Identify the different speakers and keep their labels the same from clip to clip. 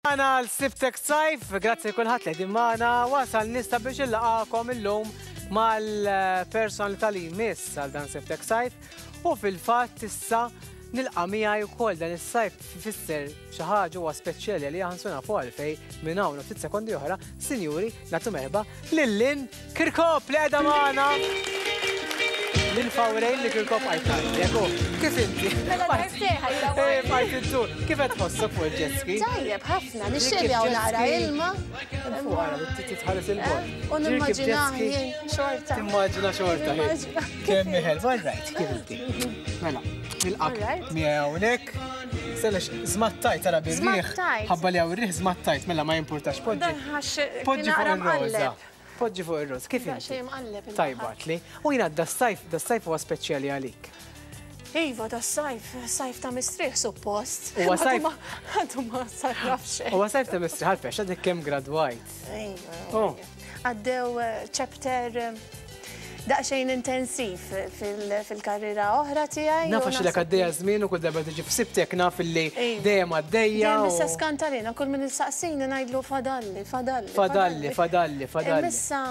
Speaker 1: Għana l-Sibtek Sajf, grazzi kulħadd li qegħdin magħna, wasal nista biex illaqakom illum mal-personalità li jmiss għal dan Sibtek Sajf u fil-fatt issa nilqa' miegħi wkoll dan is-sajf fisser xi ħaġa huwa speċjali li aħna nafu għalfej minn hawn ftit sekondi oħra, sinjuri, nagħtu merħba lil Lynn Kirkop li qiegħda magħna. Lil Fawrejn li Kirkop għajt ngħidlek, u kif inti?
Speaker 2: Mela darbtejn
Speaker 1: Eh, Bajt iddur. Kif qed tħossok fuq il-jet ski?
Speaker 2: Tajjeb ħafna, nixtieq hawn naqra ilma.
Speaker 1: Fuq ara, titħares il-bol.
Speaker 2: U nimmaġina jien xorta.
Speaker 1: Timmaġina xorta. Kemm iħel, all right, kif inti? Mela, nilqak miegħi hawnhekk. Selex, żmattajt ara bir-riħ. Ħabba li hawn ir-riħ żmattajt, mela ma jimpurtax. Poġġi. Poġġi fuq ir-roża. Poġġi fuq ir-roża, kif inti? Tajba li. U jiena das-sajf, das-sajf huwa speċjali għalik.
Speaker 2: Iva, das-sajf, sajf ta' mistrieħ suppost.
Speaker 1: Huwa sajf.
Speaker 2: Għadu ma sarraf xejn.
Speaker 1: Huwa sajf ta' mistrieħ għalfejn, għadek kemm gradwajt.
Speaker 2: Iva. Oh. Għaddew eh, chapter eh, daqsxejn intensiv fil-karriera oħra tiegħi.
Speaker 1: Naf għax ilek għaddejja żmien u kull darba tiġi f'sibtek naf illi dejjem għaddejja.
Speaker 2: Dejjem issa skantalina kull min issaqsini ngħidlu fadalli, fadalli.
Speaker 1: Fadalli, fadalli, fadalli.
Speaker 2: Issa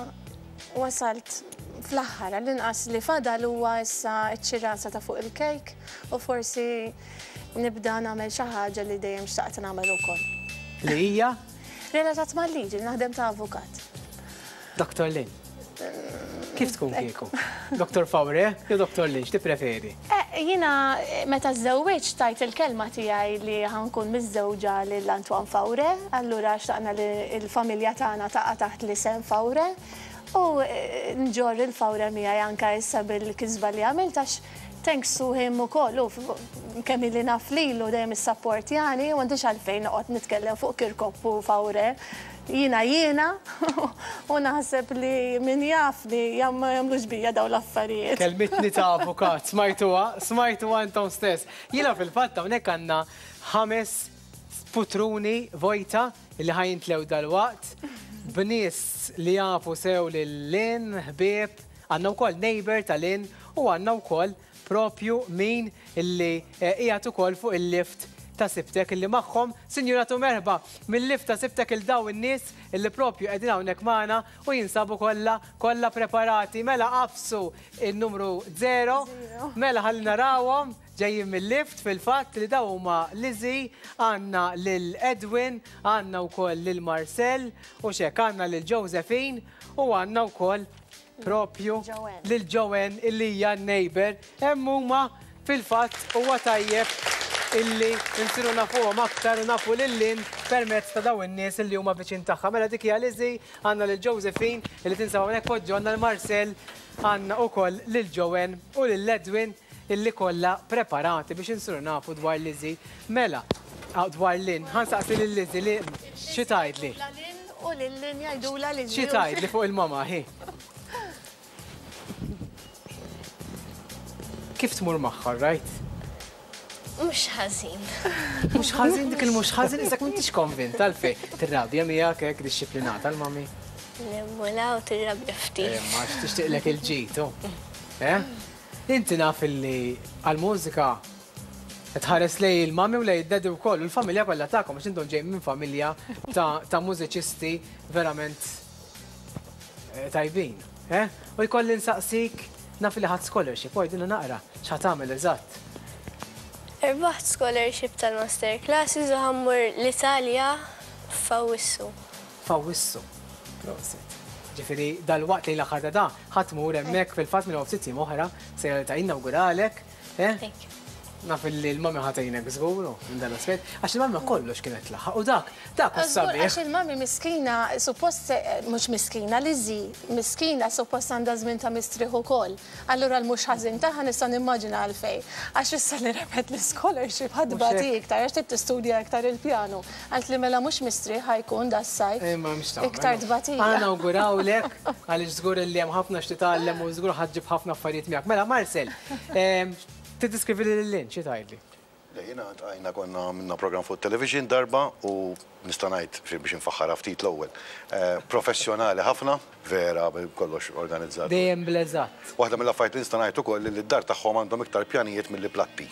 Speaker 2: wasalt fl-aħħar għall-inqas li fadal huwa issa ċ-ċirasa ta' fuq il-kejk u forsi nibda nagħmel xi ħaġa li dejjem xtaqt nagħmel ukoll.
Speaker 1: Li hija?
Speaker 2: Relatat mal-liġi, naħdem ta' avukat.
Speaker 1: Dr. Lynn. Kif tkun kieku? Dr. Faure jew Dr. Lynn, x'tippreferi?
Speaker 2: Eh, jiena meta żżewwiġt tajt il-kelma tiegħi li ħankun miżżewġa lil Antoine Faure, allura xtaqna li l-familja tagħna taqa' taħt l-isem Faure u eh, nġorr il-Faure miegħi anke issa bil-kisba li għamilt għax thanks to him ukoll u kemm ili naf lilu dejjem issapportjani u m'għandix għalfejn noqgħod nitkellem fuq Kirkop u Faure. Jiena jiena u naħseb li min jafni ma jagħmlux bija dawn l-affarijiet.
Speaker 1: Kelmitni ta' avukat, smajtuha, smajtuha intom stess. Jiena fil-fatt hawnhekk għandna ħames putruni vojta li ħa jintlew dalwaqt b'nies li jafu sew lil Lynn, ħbieb, għandna wkoll neighbor ta' Lynn u għandna wkoll propju min illi qiegħed ukoll fuq il-lift ta' Sibtek illi magħhom, Sinjura tu merħba mill-lift ta' Sibtek il daw in-nies illi propju qegħdin hawnhekk magħna u jinsabu kollha kollha preparati. Mela qafsu n-numru 0, mela ħalli narawhom ġejjin mill-lift fil-fatt li daw huma Lizzie, għandna lil Edwin, għandna wkoll lil Marcel u x'hekk għandna lil Josephine u għandna wkoll propju lil Joanne illi hija n-neighbor. Hemm huma fil-fatt huwa tajjeb illi nsiru nafuhom aktar u nafu lil Lynn permezz ta' dawn in-nies illi huma viċin tagħha. Mela dik hija Lizzie, għandna lil Josephine illi tinsab hawnhekk poġġu għandna lil Marcel, għandna ukoll lil Joanne u lil Edwin illi kollha preparati biex insiru nafu dwar Lizzie. Mela, dwar Lynn, ħa nsaqsi lil Lizzie li xi tgħidli?
Speaker 2: U lil Lynn jgħidulha Lizzie.
Speaker 1: Xi tgħidli fuq il-mama hi? Kif tmur magħha, right?
Speaker 3: Mhux ħażin.
Speaker 1: Mhux ħażin dik il-mhux ħażin isek m'intix konvint għalfejn. Tirrabja miegħek hekk dixxiplinata l-mami.
Speaker 3: Nemmula u tirrabja ftit.
Speaker 1: Ma tixtieqlek il-ġid, Eh? Inti naf illi għall-mużika tħares lej il-mami u lej id-daddy wkoll u l-familja kollha tagħkom għax intom ġejjin minn familja ta' mużiċisti verament eh, tajbin. Eh? U jkolli nsaqsik naf li ħadd scholarship, u għidilna naqra x'ħa tagħmel eżatt.
Speaker 3: Irbaħt scholarship tal-master classes u ħammur l-Italja f'Awwissu.
Speaker 1: F'Awwissu. Prosit. Ġifieri dalwaqt lejn l-aħħar ta' da, ħa tmur hemmhekk fil-fatt minn hawn ftit jiem oħra sejra li ta' jinawguralek. Eh?
Speaker 3: Thank you.
Speaker 1: Naf li l-mami ħa tgħinek żgur minn dan l-aspett, għax il-mami kollox kienet tlaħħaq u dak, dak hu
Speaker 2: Żgur
Speaker 1: sabiħ.
Speaker 2: għax il-mami miskina suppost mhux miskina, Lizzie miskina suppost għandha żmien ta' mistrieħ ukoll. Allura l-mhux ħażin tagħha nista' nimmaġina għalfejn. Għax issa li rebħet l-ischolarship ħa tbati iktar għax trid tistudja iktar il-pjanu. Għalt li mela mhux mistrieħ ħa jkun das-sajf.
Speaker 1: Imma mhux tagħmel.
Speaker 2: Iktar tbatija.
Speaker 1: Aħna nawgurawlek għaliex żgur li hemm ħafna x'titgħallem u żgur ħa ġġib ħafna affarijiet miegħek. Mela Marcel, tiddiskrivi lil Lynn xi tgħidli?
Speaker 4: Le, jiena għajna konna għamilna program fuq television darba u nista' ngħid biex infaħħarha ftit l-ewwel. Professjonali ħafna, vera kollox organizzat.
Speaker 1: Dejjem bl-eżatt.
Speaker 4: Waħda mill-affarijiet li nista' ngħid ukoll li d-dar tagħhom għandhom iktar pjanijiet milli platti.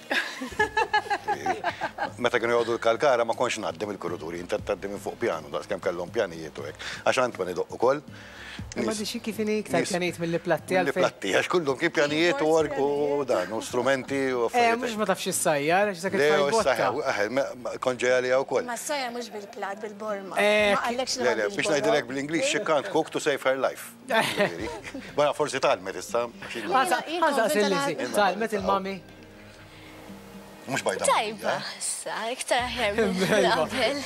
Speaker 4: Meta kienu joqogħdu l-Kalkara ma kontx ngħaddi mill-kuruturi, jien tgħaddi minn fuq pjanu daqskemm kellhom pjanijiet u hekk. Għax Antoine idoqq ukoll.
Speaker 1: Imma di xi kif inhi iktar pjanijiet milli platti
Speaker 4: għalfejn? Milli platti, għax kullum kien pjanijiet u org u dan, u strumenti u
Speaker 1: affarijiet. Eh, mhux ma tafx issajjar, għax dak
Speaker 4: it-tfajl botta. Kont ġej għaliha wkoll.
Speaker 2: Ma ssajjar mhux bil-platt, bil-borma. Ma
Speaker 4: qallekx li Le, biex ngħidilek bl-Ingliż, she can't cook to save her life. Wara forsi tgħallmet issa.
Speaker 1: Ħa nsaqsi lil Lizzie, tgħallmet il-mami?
Speaker 4: Mhux bajda.
Speaker 3: Tajba, issa, iktar aħjar minn qabel.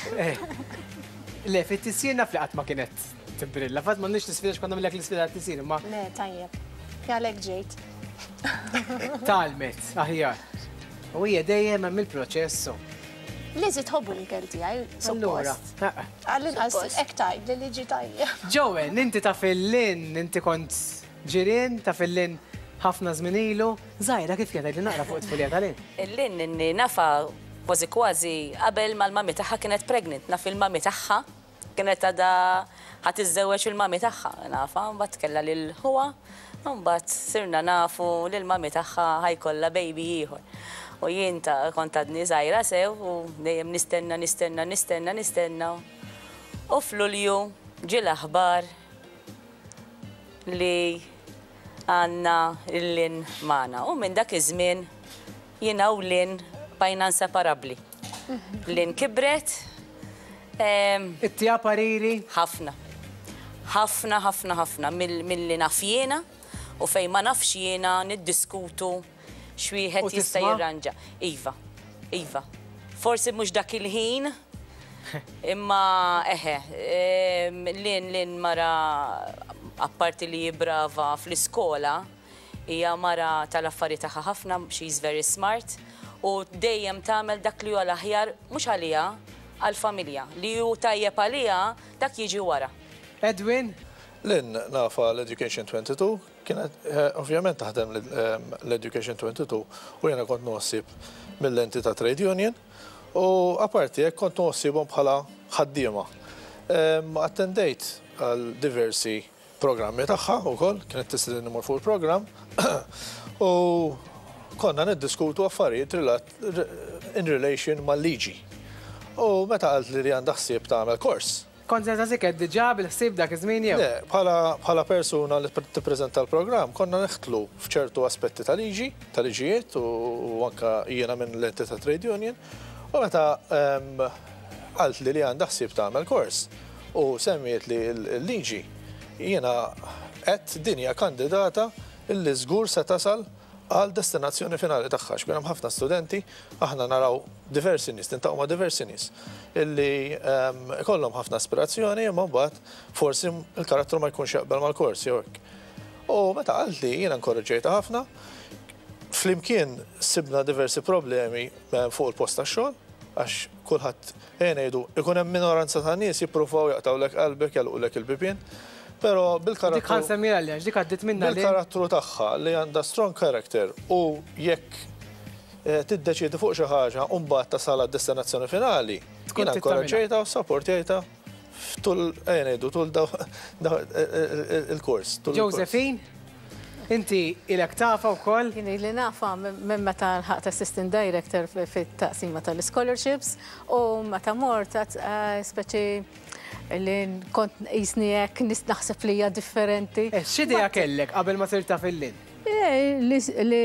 Speaker 1: Le, fit-tisjir naf li qatt ma kienet tibrilla. Fatt m'għandniex l-isfida x'konna nagħmlek l-isfida tat-tisjir, imma.
Speaker 2: Le, tajjeb. Għalhekk ġejt.
Speaker 1: Tgħallmet, aħjar. U hija dejjem hemm il-proċess.
Speaker 2: Lizzie tħobbu l-ikel tiegħi, suppost. Għall-inqas hekk tgħidli li ġie tajjeb.
Speaker 1: Joan, inti taf il-Lynn, inti kont ġirien, taf il-Lynn ħafna żmien ilu. Żgħira kif kienet għidli naqra fuq it-tfulija ta' Lynn.
Speaker 5: Il-Lynn inni nafha kważi kważi qabel ma l-mummy tagħha kienet pregnant. Naf il-mummy tagħha kienet għadha ħa tiżżewweġ il-mummy tagħha nafha, mbagħad kellha lil ħuha, u mbagħad sirna nafu li l-mummy tagħha ħa jkollha baby ieħor. U jien ta' kont għadni żgħira sew u dejjem nistenna, nistenna, nistenna, nistenna u f'Lulju ġie l-aħbar li għandna lil Lynn magħna. U minn dak iż-żmien jiena u Lynn bqajna inseparabbli. Lynn kibret.
Speaker 1: Ittiha pariri?
Speaker 5: Ħafna. Ħafna, ħafna, ħafna. Milli naf jiena u fejn ma nafx jiena niddiskutu x'wieħed jista' jirranġa. Iva, iva. Forsi mhux dak il-ħin, imma eħe, Lynn, Lynn mara apparti li hi brava fl-iskola, hija mara tal-affari tagħha ħafna, she is very smart, u dejjem tagħmel dak li hu l-aħjar mhux għaliha, għall-familja. Li hu tajjeb għaliha, dak jiġi wara.
Speaker 1: Edwin?
Speaker 6: Lynn nafha l-Education 22, Kienet ovvjament taħdem l-Education 22 u jiena kont noħsib mill-lenti ta' trade union u apparti hekk kont noħsibhom bħala ħaddiema. Attendejt għal diversi programmi tagħha wkoll, kienet tistedinni mmur fuq il-programm u konna niddiskutu affarijiet in relation mal-liġi. U meta qaltli li għandha ħsieb tagħmel kors,
Speaker 1: Kont se nsaqsik għedt diġà bil-ħsieb dak iż-żmien jew?
Speaker 6: Le, bħala bħala persuna li tippreżenta l-programm konna nidħlu f'ċertu aspetti ta' liġi, ta' liġijiet u anke jiena minn lenti ta' trade union u meta qaltli li għandha ħsieb tagħmel kors u semmietli l-liġi jiena għedt din hija kandidata li żgur se tasal għal destinazzjoni finali tagħha għax ikun hemm ħafna studenti, aħna naraw diversi nies, niltaqgħu ma' diversi nies illi ikollhom ħafna aspirazzjoni imma mbagħad forsi l-karattru ma jkunx jaqbel mal-kors jew hekk. U meta qaltli jiena inkoraġġejtha ħafna, flimkien sibna diversi problemi fuq il-post tax-xogħol għax kulħadd Ejja ngħidu, ikun hemm minoranza ta' nies jippruvaw jaqtgħulek qalbek, jagħlqulek il-bibien, però bil-karattru.
Speaker 1: Dik ħa nsemmiha li għax dik għaddiet minnha li.
Speaker 6: Bil-karattru tagħha li għandha strong character u jekk tiddeċiedi fuq xi ħaġa u mbagħad tasal għad-destinazzjoni finali, jiena inkoraġġejtha u ssapportjajtha tul, ejja ngħidu, tul il-kors.
Speaker 1: Josephine? Inti ilek tafha wkoll?
Speaker 7: Jien ili nafha minn meta lħaqt assistant director fit-taqsima tal-ischolarships u meta mort speċi li kont qisni hekk naħseb li hija differenti.
Speaker 1: X'idea kellek qabel ma sirt taf il-Lynn?
Speaker 7: Li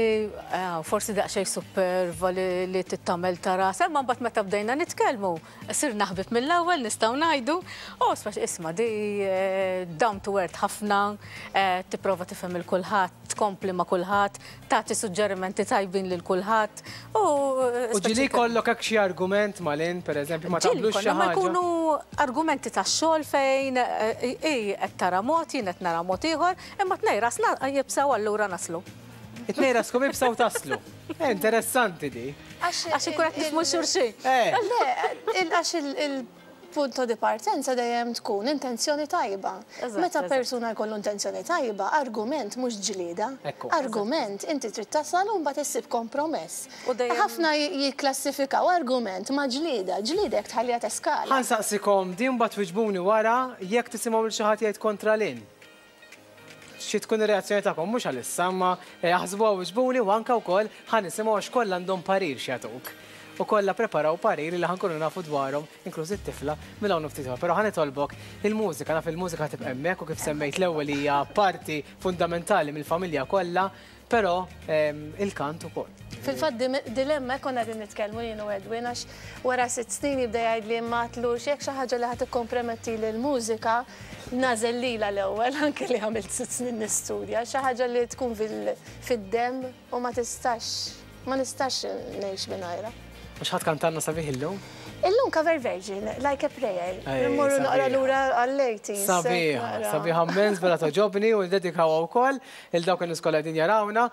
Speaker 7: forsi daqsxejn superva li tittamel ta' rasha, imma mbagħad meta bdejna nitkellmu Sirna ħbieb mill-ewwel nistgħu ngħidu, u speċi isma' di down to earth ħafna, tipprova tifhem il kulħadd, tkompli ma' kulħadd, tagħti suġġerimenti tajbin lil kulħadd u.
Speaker 1: U ġieli jkollok hekk xi argument ma' Lynn, pereżempju, ma taqblux xi ħaġa?
Speaker 7: Ma jkunu argumenti tax-xogħol fejn hi qed tara mod, jien qed nara mod ieħor, imma tnejn rasna iebsa u allura naslu.
Speaker 1: It-tnejn raskom iebsa u taslu. Interessanti di.
Speaker 7: Għax ikun qed nifhmu xulxin.
Speaker 2: Le, għax il-punto di partenza dejjem tkun intenzjoni tajba. Meta persuna jkollu intenzjoni tajba, argument mhux ġlieda. Argument inti trid tasal u mbagħad issib kompromess. Ħafna jikklassifikaw argument ma' ġlieda. Ġlieda jekk tħalliha teskala.
Speaker 1: Ħa nsaqsikom din mbagħad twiġbuni wara jekk tisimgħu lil xi ħadd jgħid kontra Lynn. Xi tkun ir-reazzjoni tagħkom mhux għalissa, imma aħsbuha u wiġbuni u anke wkoll ħa nisimgħu għax kollha għandhom parir x'jagħtuk. u kollha preparaw pariri li ħa nkunu nafu dwarhom, inkluż it-tifla, minn hawn u ftit ieħor. Però ħa nitolbok il-mużika, naf il-mużika tibqa' hemmhekk u kif semmejt l-ewwel hija parti fundamentali mill-familja kollha, però il-kant ukoll.
Speaker 2: Fil-fatt dilemma konna qegħdin nitkellmu jien u Edwin għax wara 6 snin jibda jgħidli imma għadtlux jekk xi ħaġa li ħa tikkomprometti l-mużika nagħżel lilha l-ewwel anke li għamilt 6 snin nistudja, xi ħaġa li tkun fid-demm u ma tistax, ma nistax ngħix mingħajrha.
Speaker 1: Mhux ħa tkantalna sabiħ illum?
Speaker 2: Illum cover version, Like a Prayer. Immorru naqra lura għall-80s.
Speaker 1: Sabiħa, sabiħa immens, bella togħġobni u ndedikawha wkoll lil dawk in-nies kollha qegħdin jarawna.